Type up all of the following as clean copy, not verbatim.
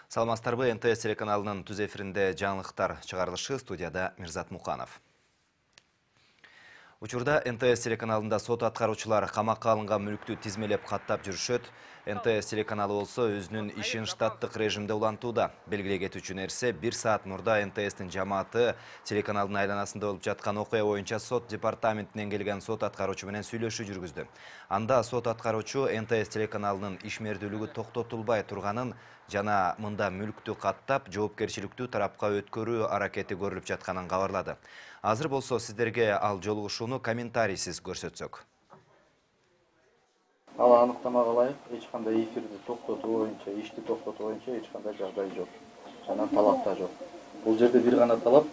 Саламатсыздарбы, НТС телеканалынын түз эфиринде жаңылыктар чыгарылышы, студияда Мирзат Муканов. Учурда НТС телеканалында сот аткаруучулар камакка алынган мүлктү тизмелеп каттап жүрүшөт. НТС телеканалы болсо өзүнүн ишин штаттык режимде улантууда. Белгилей кетүүчү нерсе, 1 саат мурда НТС'тин жамааты телеканалдын айланасында болуп жаткан окуя боюнча сот департаментинен келген сот аткаруучу менен сүйлөшүү жүргүздү. Анда сот аткаруучу НТС телеканалынын ишмердүүлүгү токтотулбай турганын жана мында мүлктү каттап, жоопкерчиликтүү тарапка өткөрүү аракети көрүлүп жатканын кабарлады. Азыр болсо сиздерге ал жолугушууну комментарийсиз көрсөтсөк. Ал аныктамага ылайык эч кандай эфирди токтотуу боюнча, ишти токтотуу боюнча эч кандай жагдай жок. Жана талап да жок. Бул жерде бир гана талап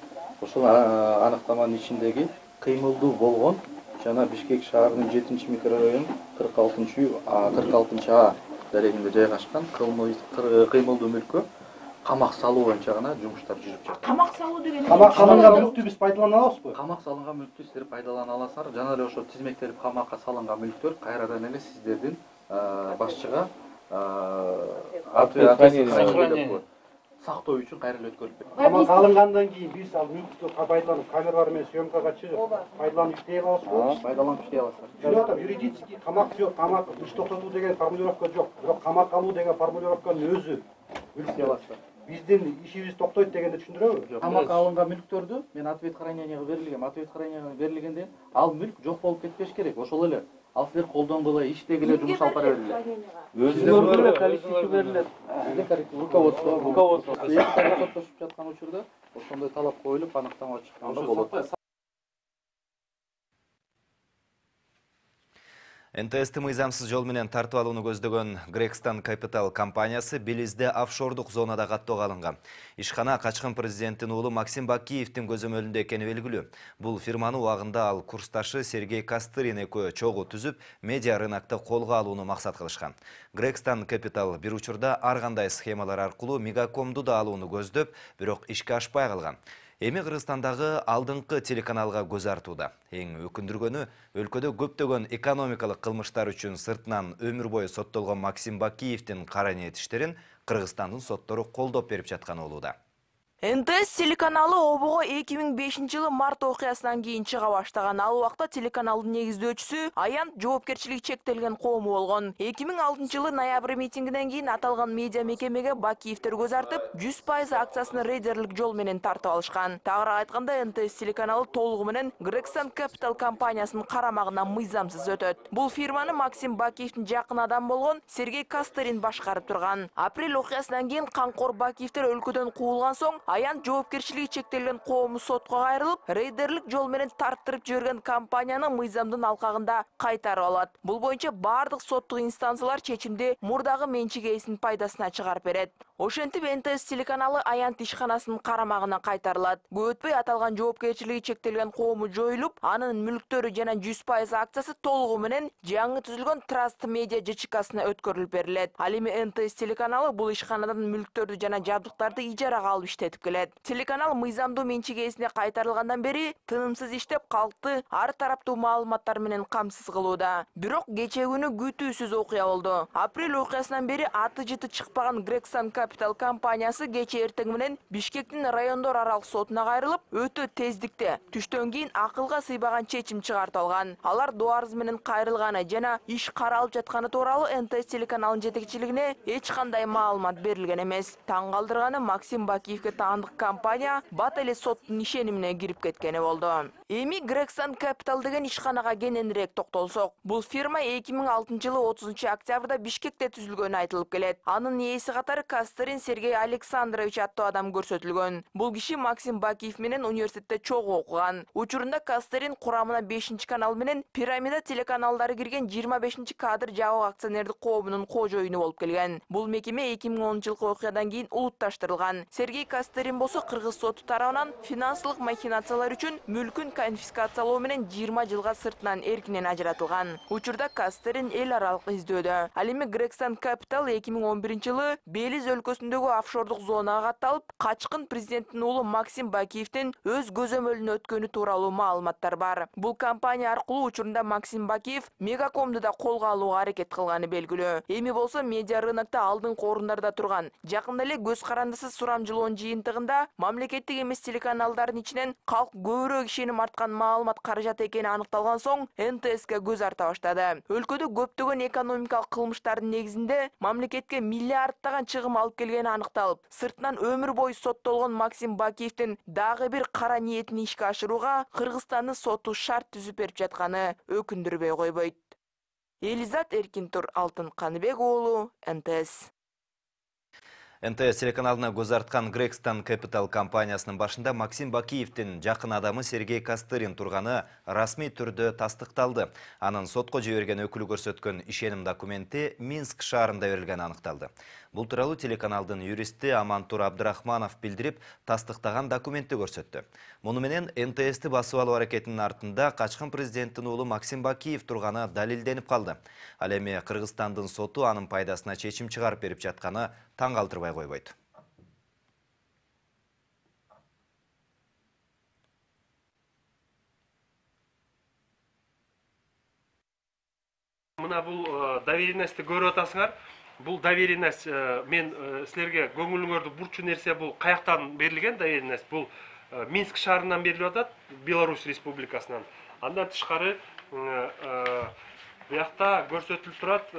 ошол аныктаманын ичиндеги кыймылдуу болгон жана Бишкек шаарынын 7-микрорайон 46А дарегинде жайгашкан кыймылдуу мүлккө камак салуу боюнча гана жумуштар жүрүп жатат. Камак салуу деген камак салынган мүлктү биз пайдалана алабызбы? Камак салынган мүлктү сиздер пайдалана аласыздар. Жана эле ошо тизмектелип камакка салынган мүлктөр кайрадан эле сиздердин башчыга сактоо үчүн кайра эле өткөрүлүп кетет. Камак алынгандан кийин биз ал мүлктү пайдаланып камералар менен съемкага чыгып пайдаланып иштей алабызбы? Пайдаланып иштей аласыздар. Жүрөтөм, юридически камак жок, камак иш токтотуу деген формулировка жок. Бирок камак алуу деген формулировканын өзү иштей аласыздар. Биздин ишибиз токтойт дегенди түшүндүрөбү? Камакка алынган мүлктөрдү мен ответ храненияга берилген. Ответ храненияга берилгенде ал мүлк жок болуп кетпеш керек. Ошол эле ал силер колдонгула иштеги эле жумуш алып бара берилет. Өзүңөр коллективге берилет. Руководство. Эки тарап соттошуп жаткан учурда ошондой талап коюлуп аныктама чыкканда болот. НТС'ти мыйзамсыз жол менен тартып алууну көздөгөн Грексtan Capital компаниясы Белизде офшордук зонада каттоого алынган. Ишкана качкын президенттин уулу Максим Бакиевдин көзөмөлүндө экени белгилүү. Бул фирманы убагында ал курсташы Сергей Костырин экөө чогуу түзүп, медиа рынокто колго алууну максат кылышкан. Grektan Capital бир учурда ар кандай схемалар аркылуу Мегакомду да алууну көздөп, бирок ишке ашпай калган. Эми Кыргызстандагы алдыңкы телеканалга көз артууда. Эң өкүндүргөнү, өлкөдө көптөгөн экономикалык кылмыштар үчүн сыртынан өмүр бою соттолгон Максим Бакиевдин кара ниет иштерин Кыргызстандын соттору колдоп берип жатканы болууда. НТС телеканалы обого 2005-жылы март окуясынан кийин чыга баштаган. Ал убакта телеканалдын негиздөөчүсү Аянт жоопкерчилиги чектелген коому болгон. 2006-жылы ноябрь митингинен кийин аталган медиа мекемеге Бакиевдер көз артып, 100% акциясын рейдерлик жол менен тартып алышкан. Тагыраак айтканда, НТС телеканалы толугу менен Grektan Capital компаниясынын карамагына мыйзамсыз өтөт. Бул фирманы Максим Бакиевдин жакын адам болгон Сергей Костырин башкарып турган. Апрель окуясынан кийин Камкор Бакиевдер өлкөдөн куулган соң Аянт жоопкерчилиги чектелген коому сотко кайрылып, рейдерлик жол менен тарттырып жиберген компанияны мыйзамдын алкагында кайтарып алат. Бул боюнча бардык соттук инстанциялар чечимди мурдагы менчик ээсинин пайдасына чыгарып берет. Ошентип НТС телеканалы Аянт ишканасынын карамагына кайтарылат. Көп өтпөй аталган жоопкерчилиги чектелген коому жоюлуп, анын мүлктөрү жана 100% акциясы толугу менен жаңы түзүлгөн Trust Media ЖЧКсына өткөрүлүп берилет. Ал эми НТС телеканалы бул ишканадан мүлктөрдү жана жабдыктарды ижарага алып иштетип келет. Телеканал мыйзамдуу менчик ээсине кайтарылгандан бери тынымсыз иштеп, калкты ар тараптуу маалыматтар менен камсыз кылууда. Бирок кечээ күнү күтүүсүз окуя болду. Апрель окуясынан бери аты жыты чыкпаган Grektan Capital компаниясы кечээ эртең менен Бишкектин райондор аралык сотуна кайрылып, өтө тездикте түштөн кийин акылга сыйбаган чечим чыгартып алган. Алар доо арыз менен кайрылганы жана иш каралып жатканы тууралуу НТС телеканалынын жетекчилигине эч кандай маалымат берилген эмес. Таң калтырганы Максим Бакиевге таандык компания бат эле соттун ишенимине кирип кеткени болду. Эми Grektan Capital деген ишканага кененирээк токтолсок, бул фирма 2006-жылы 30-октябрда Бишкекте түзүлгөнү айтылып келет. Анын ээси катары Костырин Сергей Александрович аттуу адам көрсөтүлгөн. Бул киши Максим Бакиев менен университетте чогуу окуган. Учурунда Костырин курамына 5-канал менен Пирамида телеканалдары кирген 25-кадр жабык акционердик коомунун кожоюну болуп келген. Бул мекеме 2010-жылкы окуядан кийин улутташтырылган. Сергей Костырин болсо кыргыз соту тарабынан финансылык махинациялар үчүн мүлкүн конфискациялоо менен 20 жылга сыртынан эркинен ажыратылган. Учурда Костырин эл аралык издөөдө. Ал эми Grektan Capital 2011-жылы Белиз өлкөсүндөгү офшордук зонага катталып, качкын президенттин уулу Максим Бакиевдин өз көзөмөлүнө өткөнү тууралуу маалыматтар бар. Бул компания аркылуу учурунда Максим Бакиев Мегакомду да колго алууга аракет кылганы белгилүү. Эми болсо медиа рынокто алдыңкы орундарда турган, жакында эле көз карандысыз сурамжылоонун жыйынтыгында мамлекеттик эмес телеканалдардын ичинен калк көбүрөөк ишеним арткан маалымат каражаты экени аныкталган соң НТСке көз арта баштады. Өлкөдө көптөгөн экономикалык кылмыштардын негизинде мамлекетке миллиарддаган чыгым алып келгени аныкталып, сыртынан өмүр бою соттолгон Максим Бакиевдин дагы бир кара ниетин ишке ашырууга Кыргызстандын соту шарт түзүп берип жатканы өкүндүрбөй койбойт. Элизат Эркинтур, Алтын Каныбек уулу, НТС. НТС телеканалына көз арткан Грексtan Capital компаниясынын башында Максим Бакиевдин жакын адамы Сергей Костырин турганы расмий түрдө тастыкталды. Анын сотко жиберген өкүлү көрсөткөн ишеним документи Минск шаарында берилгени аныкталды. Бул тууралуу телеканалдын юристи Амантур Абдрахманов билдирип, тастыктаган документти көрсөттү. Муну менен НТСти басып алуу аракетинин артында качкын президенттин уулу Максим Бакиев турганы далилденип калды. Ал эми Кыргызстандын соту анын пайдасына чечим чыгарып берип жатканы таң калтырбай койбойт. Мына бул доверенностьти көрүп атасыңар. Бул доверенность мен силерге көңүлүңөрдү бурчу нерсе, бул каяктан берилген доверенность? Бул Минск шаарынан берилип атат, Беларусь Республикасынан. Андан тышкары буякта көрсөтүлүп турат,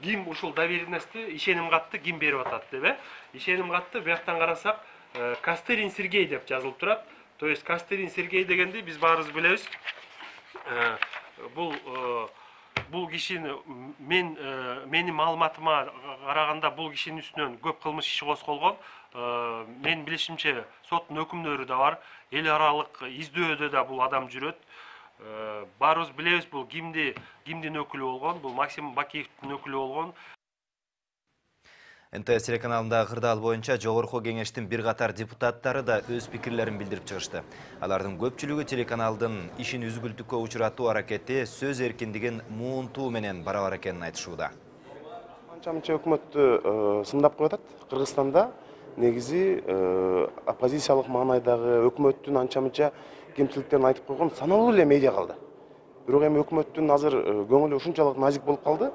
ким ушул доверенностьти, ишеним катты ким берип атат деп, ишеним катты буяктан карасак, Костырин Сергей деп жазылып турат. То есть Костырин Сергей дегенди биз баарыбыз билебиз. Бул кишини менин маалыматыма караганда бул кишинин үстүнөн көп кылмыш иши козголгон. Мен билишимче соттун өкүмдөрү да бар. Эл аралык издөөдө да бул адам жүрөт. Баарыбыз билебиз, бул кимдин өкүлү болгон, бул Максим Бакиевдин өкүлү болгон. НТС телеканалында кырдаал боюнча Жогорку кеңештин бир катар депутаттары да өз пикирлерин билдирип чыгышты. Алардын көпчүлүгү телеканалдын ишин үзгүлтүккө учуратуу аракети сөз эркиндигин муунтуу менен барабар экенин айтышууда. Анча-мынча өкмөттү сындап коюп атат. Кыргызстанда негизи оппозициялык маанайдагы өкмөттүн анча-мынча кемчиликтерин айтып койгон саналуу эле медиа калды. Бирок эми өкмөттүн азыр көңүлү ушунчалык назик болуп калды.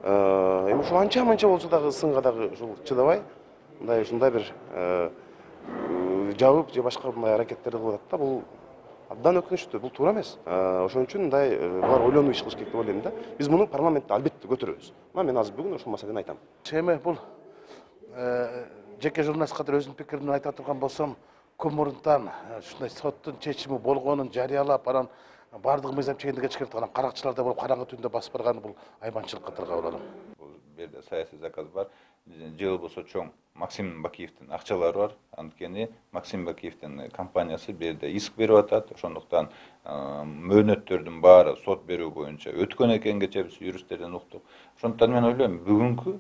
Эми ушул анча-мынча болсо дагы сынга дагы ушул чыдабай, ушундай бир жабып же башка мындай аракеттерди кылып атат да. Бул абдан өкүнүчтүү, бул туура эмес. Ошон үчүн мындай булар ойлонуп иш кылыш керек деп ойлойм да. Биз муну парламентте албетте көтөрөбүз. Мен азыр бүгүн ушул маселени айтам. Эми бул жеке журналист катары өзүмдүн пикиримди айта турган болсом, көп мурунтан ушундай соттун чечими болгонун жарыялап, анан бардык мыйзам чегиндеге чыгарып анан каракчылар да болуп караңгы түндө басып барганы бул айбанчылык катары кабыл алам. Бул жерде саясий заказ бар. Же болбосо чоң Максим Бакиевдин акчалары бар. Анткени Максим Бакиевдин компаниясы бул жерде иск берип атат. Ошондуктан мөөнөттөрдүн баары сот берүү боюнча өткөн экен кечээ биз юристтерден уктук. Ошондуктан мен ойлойм, бүгүнкү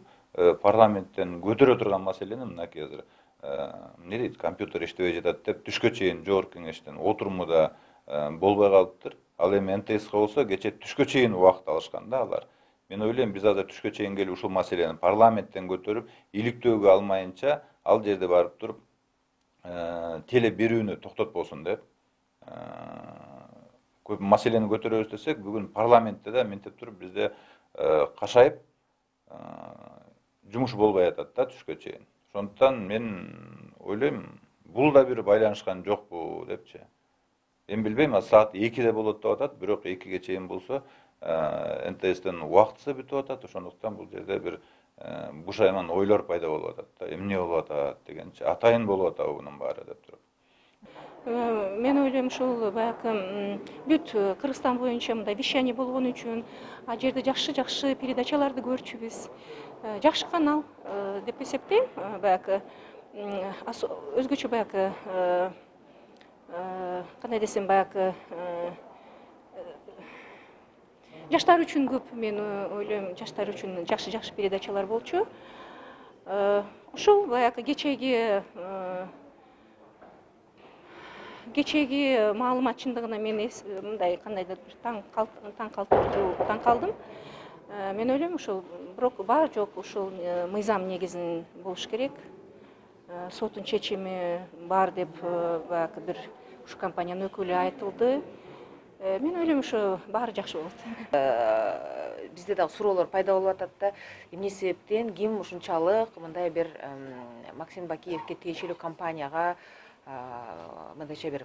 парламенттен көтөрө турган маселени мынакей азыр эмне дейт, компьютер иштебей жатат деп түшкө чейин жогорку кеңештин отурумуда болбой калыптыр. Ал эми НТСка болсо кечээ түшкө чейин убакыт алышкан да алар. Мен ойлойм, биз азыр түшкө чейин келип ушул маселени парламенттен көтөрүп, иликтөөгө алмайынча ал жерде барып туруп теле берүүнү токтотпосун деп көп маселени көтөрөбүз десек, бүгүн парламентте да мынтип туруп бизде кашайып жумуш болбой атат да түшкө чейин. Ошондуктан мен ойлойм, бул да бир байланышкан жокпу депчи. Мен билбейм, саат 2-де болот деп атат, бирок 2-ге чейин болсо НТСтин убактысы бүтүп атат. Ошондуктан бул жерде бир бушайман ойлор пайда болуп атат да, эмне болуп атат дегенчи, атайын болуп атабы мунун баары деп туруп. Мен ойлойм, ушул баягы бүт Кыргызстан боюнча мындай вещание болгон үчүн, а жерде жакшы передачаларды көрчүбүз. Жакшы канал деп эсептейм. Баягы өзгөчө баягы кандай десем, баягы жаштар үчүн көп, мен ойлойм, жаштар үчүн жакшы передачалар болчу. Ушул баягы кечеги маалымат чындыгына мен мындай кандайдыр таң калдым. Мен ойлойм, ушул бирок бар жок ушул мыйзам негизин болуш керек. соттун чечими бар деп баягы бир ушу компаниянын өкүлү айтылды. Мен ойлойм ушу баары жакшы болот. Бизде дагы суроолор пайда болуп атат да, эмне себептен ким ушунчалык мындай бир Максим Бакиевке тиешелүү компанияга мындайча бир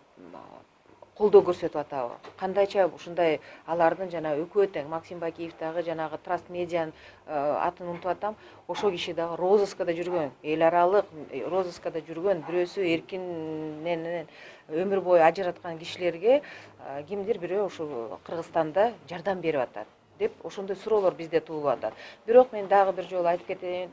колдоо көрсөтүп атабы? Кандайча ушундай алардын жана өкмөт тең Максим Бакиев дагы жанагы Траст Медианын атын унутуп атам. Ошол киши дагы розыскада жүргөн, эл аралык розыскада жүргөн, бирөөсү эркинен өмүр бою ажыраткан кишилерге кимдир бирөө ушу Кыргызстанда жардам берип атат деп ошондой суроолор бизде туулуп атат. Бирок мен дагы бир жолу айтып кетейин,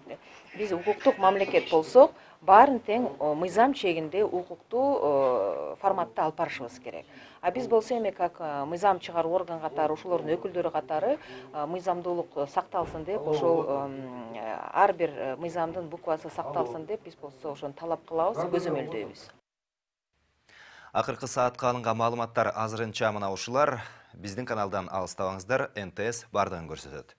биз укуктук мамлекет болсок, баарын тең мыйзам чегинде укуктуу форматта алып барышыбыз керек. А биз болсо эми как мыйзам чыгаруу орган катары, ошолордун өкүлдөрү катары мыйзамдуулук сакталсын деп, ошол ар бир мыйзамдын буквасы сакталсын деп биз болсо ошону талап кылабыз, көзөмөлдөйбүз. Акыркы саатка алынган маалыматтар азырынча мына ушулар. Биздин каналдан алыстабаңыздар, НТС бардыгын көрсөтөт.